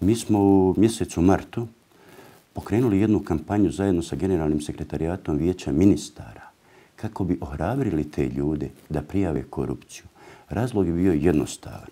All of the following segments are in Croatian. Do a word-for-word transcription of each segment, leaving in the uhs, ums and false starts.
Mi smo u mjesecu martu pokrenuli jednu kampanju zajedno sa Generalnim sekretarijatom Vijeća ministara kako bi ohrabrili te ljude da prijave korupciju. Razlog je bio jednostavan.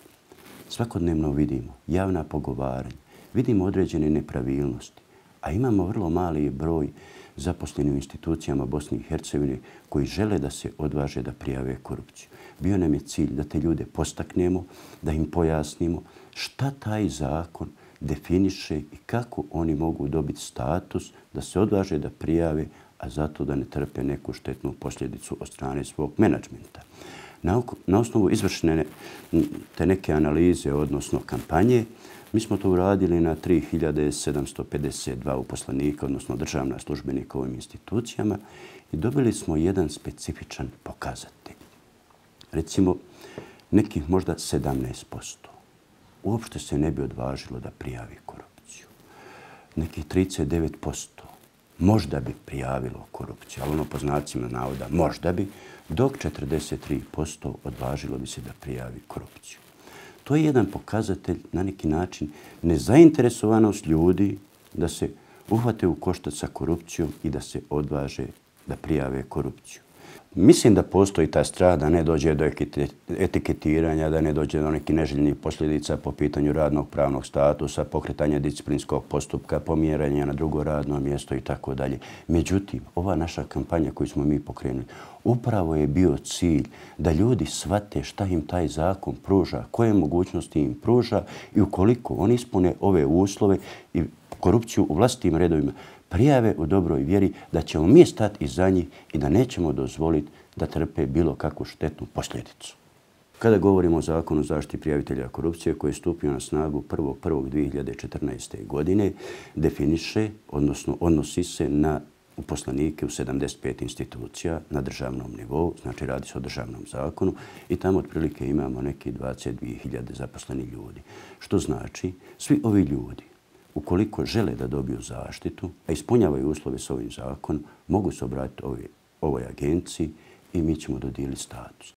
Svakodnevno vidimo javna pogovaranja, vidimo određene nepravilnosti, a imamo vrlo mali broj zaposlenih u institucijama Bosne i Hercegovine koji žele da se odvaže da prijave korupciju. Bio nam je cilj da te ljude postaknemo, da im pojasnimo šta taj zakon definiše i kako oni mogu dobiti status da se odvaže da prijave, a zato da ne trpe neku štetnu posljedicu od strane svog menadžmenta. Na, na osnovu izvršene te neke analize, odnosno kampanje, mi smo to uradili na tri hiljade sedamsto pedeset dva uposlenika, odnosno državna službenika u ovim institucijama i dobili smo jedan specifičan pokazatelj. Recimo, nekih možda sedamnaest posto uopšte se ne bi odvažilo da prijavi korupciju. Nekih trideset devet posto možda bi prijavilo korupciju, ali ono po znacima navoda možda bi, dok četrdeset tri posto odvažilo bi se da prijavi korupciju. To je jedan pokazatelj, na neki način, nezainteresovanost ljudi da se uhvate u koštac sa korupcijom i da se odvaže da prijave korupciju. Mislim da postoji ta strah da ne dođe do etiketiranja, da ne dođe do nekih neželjenih posljedica po pitanju radnog pravnog statusa, pokretanja disciplinskog postupka, pomjeranja na drugo radno mjesto i tako dalje. Međutim, ova naša kampanja koju smo mi pokrenuli, upravo je bio cilj da ljudi shvate šta im taj zakon pruža, koje mogućnosti im pruža i ukoliko oni ispune ove uslove i korupciju u vlastitim redovima, prijave u dobroj vjeri da ćemo mi stati iza njih i da nećemo dozvoliti da trpe bilo kakvu štetnu posljedicu. Kada govorimo o Zakonu o zaštiti prijavitelja korupcije koji je stupio na snagu prvog prvog dvije hiljade četrnaeste. godine, definiše, odnosno odnosi se na uposlenike u sedamdeset pet institucija na državnom nivou, znači radi se o državnom zakonu i tamo otprilike imamo neki dvadeset dvije hiljade zaposlenih ljudi. Što znači, svi ovi ljudi ukoliko žele da dobiju zaštitu, a ispunjavaju uslove s ovim zakonom, mogu se obratiti ovoj, ovoj agenciji i mi ćemo dodijeliti status.